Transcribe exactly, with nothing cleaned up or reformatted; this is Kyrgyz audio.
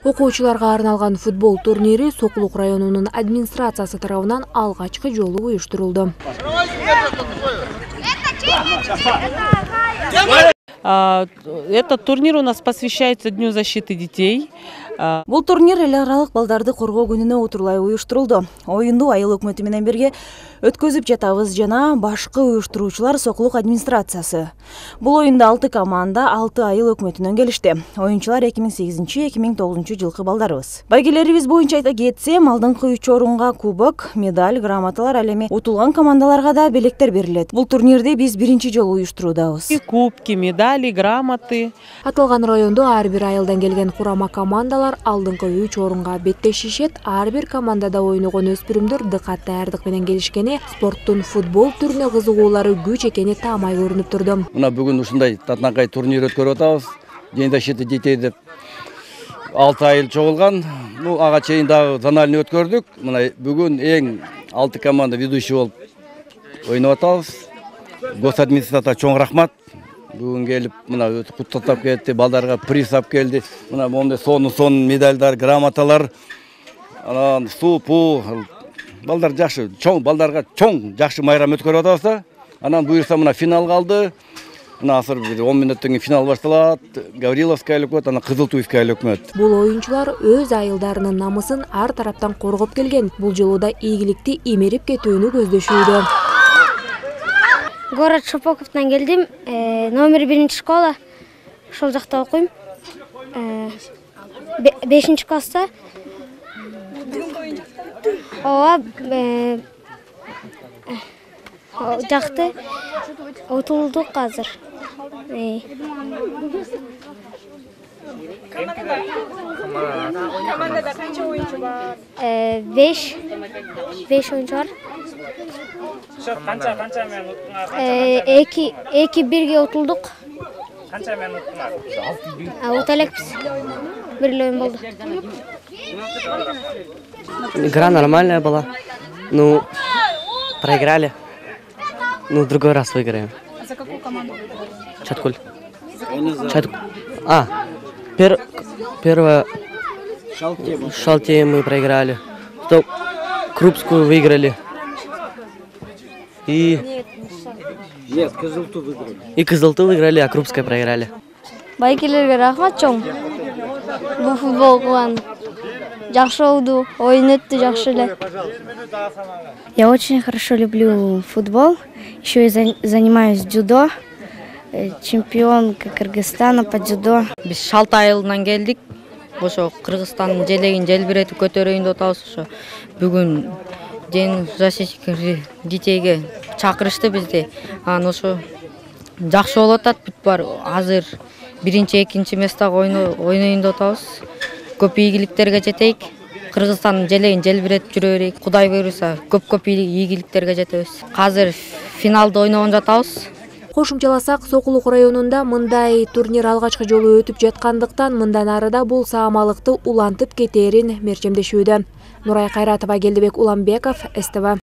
Окуучуларга арналган футбол турнири Сокулук районунун администрациясы тарабынан алгачкы жолу уюштурулду. Этот турнир у нас посвящается Дню защиты детей. Бул турнир эл аралык балдарды коргоо күнүнө утурлай уюштурулду. Оюнду айыл өкмөтү менен бирге өткөзүп жатабыз жана башкы уюштуруучулар Сокулук администрациясы. Бул оюнда алты команда алты айыл өкмөтүнөн келишти. Оюнчулар эки миң сегизинчи эки миң тогузунчу жылкы балдарыбыз. Байгелерибиз боюнча айта кетсем, алдыңкы үч орунга кубок, медаль, грамоталар, ал эми утулган командаларга да белектер берилет. Бул турнирди биз биринчи жолу уюштуруудабыз. Кубки, медали, грамоты. Аталган райондо ар бир айылдан келген курама командалар алдыңкы үч орунга беттешишет. Ар бир командада ойногон өспүрүмдөр дыкат даярдык менен келишкени, спорттун футбол түрүнө кызыгуулары күч экени таамай көрүнүп турду. Мына бүгүн ушундай татынакай турнир өткөрүп атабыз. День защиты детей деп алты айыл чогулган. Ну, ага чейин дагы зональный өткөрдүк. Мына бүгүн эң алты команда ведущий болуп ойноп атабыз. Госадминистрацияга чоң рахмат. Бүгүн келип, мына куттуктап кетти, балдарга приз алып келди. Мына мондай сонун-сонун медальдар, грамоталар, анан суу, пуу, балдар жакшы, чоң балдарга чоң жакшы майрам өткөрүп атабыз да. Анан буюрса мына финал калды. Мына азыр бир он мүнөттөн кийин финал башталат. Гавриловская өкмөт, анан Кызылтуйская өкмөт. Бул оюнчулар өз айылдарынын намысын ар тараптан коргоп келген. Бул жолу да ийгиликти имерип кетүүнү көздөшүүдө. Город Шапоковтан келдим. Номер биринчи школа. Ошол жакта окуйм. бешинчи класста. Ооба, жакты. Утулдук азыр. Командада канча оюнчу бар? беш. беш оюнчу бар. Канча канча менен уттуңар? эки эки бирге утулдук. Канча менен уттуңар? Ута элекпиз. Бир эле оюн болду. Игра нормальная была. Ну, проиграли. Ну, в другой раз выиграем. А за какую команду выиграли? Чаткуль. Чаткуль. А, пер... первое... Шалтей мы проиграли. Потом Крупскую выиграли. И... Нет, Кызылту выиграли. И Кызылту выиграли, а Крупская проиграли. Байкелерге рахмат чоң. Бул футбол кылган. Жакшы болду, оюн өттү жакшы эле. Я очень хорошо люблю футбол. Еще и занимаюсь дзюдо. Чемпион Кыргызстана по дзюдо. Биз Шалты айылынан келдик. Ошо Кыргызстандын желегин желбиретип көтөрөйүн деп атабыз. Ошо бүгүн День защиты детейге чакырышты бизди. Анан ошо жакшы болуп атат. Бүт бар азыр биринчи, экинчи местага ойноюн деп атабыз. Көп ийгиликтерге жетейик. Кыргызстандын желегин желбиретип жүрө берейик. Кудай буйруса, көп-көп ийгиликтерге жетебиз. Азыр финалда ойногон жатабыз. Кошумчаласак, Сокулук районунда мындай турнир алгачкы жолу өтүп жаткандыктан мындан арыда бул саамалыкты улантып кетээрин мерчемдешүүдө. Нурай Кайратова, Келдибек Уламбеков, СТВ.